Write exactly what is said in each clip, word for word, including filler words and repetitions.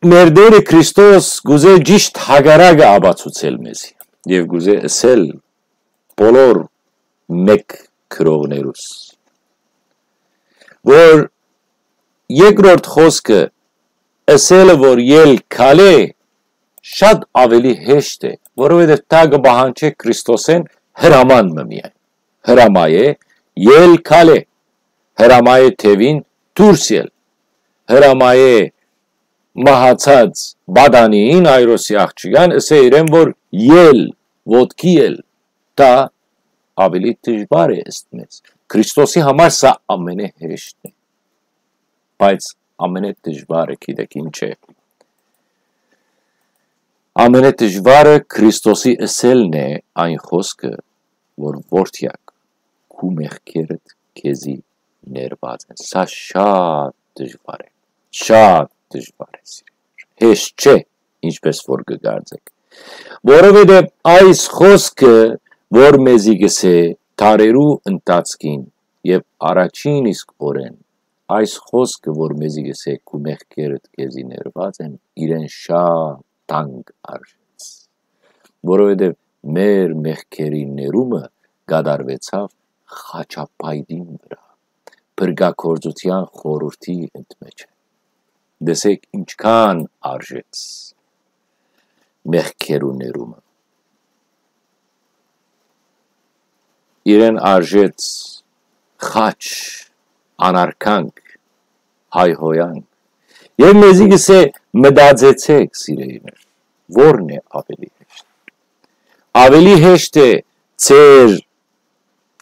մեր Տէրը Քրիստոս կ'ուզէ ճիշդ հակառակը ապացուցել մեզի եւ կ'ուզէ ըսել բոլոր մէկ գրողներուս, որ երկրորդ խօսքը ըսելը, որ ել քալէ, շատ աւելի հեշտ է, որովհետեւ դա կը պահանջէ Քրիստոսէն հրաման մը միայն։ Հրամայէ ել քալէ, հրամայէ թեւին դուրս ել, հրամայէ մահացած պատանիին, Այրոսի աղջկան, ըսէ իրեն, որ ել, ոտքի ել, դա աւելի դժուար է ըստ մեզ։ Քրիստոսի համար սա ամենեհեշտն է, բայց ամենեդժուարը գիտեք ինչ է։ Ամենեդժուարը Քրիստոսի ըսելն է այն խօսքը, որ որդեակ, քու մեղքերդ քեզի ներված են։ Սա շատ դժուար է, շատ դժուար է, սիրելիներ։ Հեշտ չէ, ինչպես որ կը կարծեք, որովհետեւ այս խօսքը, որ մեզի կ'ըսէ դարերու ընթացքին եւ առաջին իսկ օրէն, այս խօսքը, որ մեզի կ'ըսէ քու մեղքերդ քեզի ներված են, իրեն շատ թանկ արժեց, որովհետեւ մեր մեղքերի ներումը կատարուեցաւ խաչապայտին վրայ, փրկագործութեան խորհուրդի ընդմէջ։ Տեսեք ինչքան արժեց մեղքերու ներումը։ Իրեն արժեց խաչ, անարգանք, հայհոյանք։ Եւ մեզի կ'ըսէ, մտածեցեք, սիրելիներ, ո՞րն է աւելի հեշտ։ Աւելի հեշտ է ձեր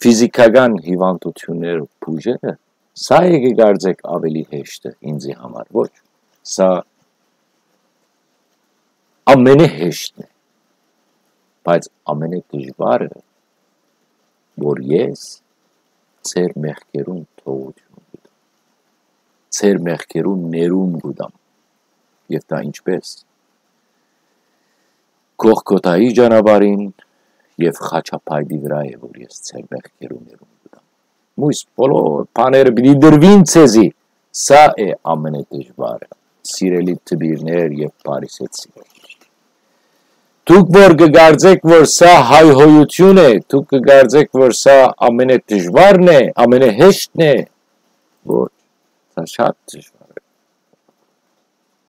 ֆիզիքական հիվանդութիւնները բուժելը, սա է կը կարծեք աւելի հեշտը ինձի համար, ոչ, սա ամենեհեշտն է, բայց ամենեդժուարը, որ ես ձեր մեղքերուն թողութիւն կու տամ, ձեր մեղքերուն ներում կու տամ, եւ դա ինչպես, Գողգոթայի ճանապարհին եւ խաչապայտի վրայ է, որ ես ձեր մեղքերուն ներում կու տամ։ Մոյս բոլոր բաները պիտի տրուին ձեզի, սա է ամենեդժուարը, սիրելի դպիրներ եւ փարիսեցիներ։ Դուք որ կը կարծեք, որ սա հայհոյութիւն է, դուք կը կարծեք, որ սա ամենեդժուարն է, ամենեհեշտն է, ոչ, սա շատ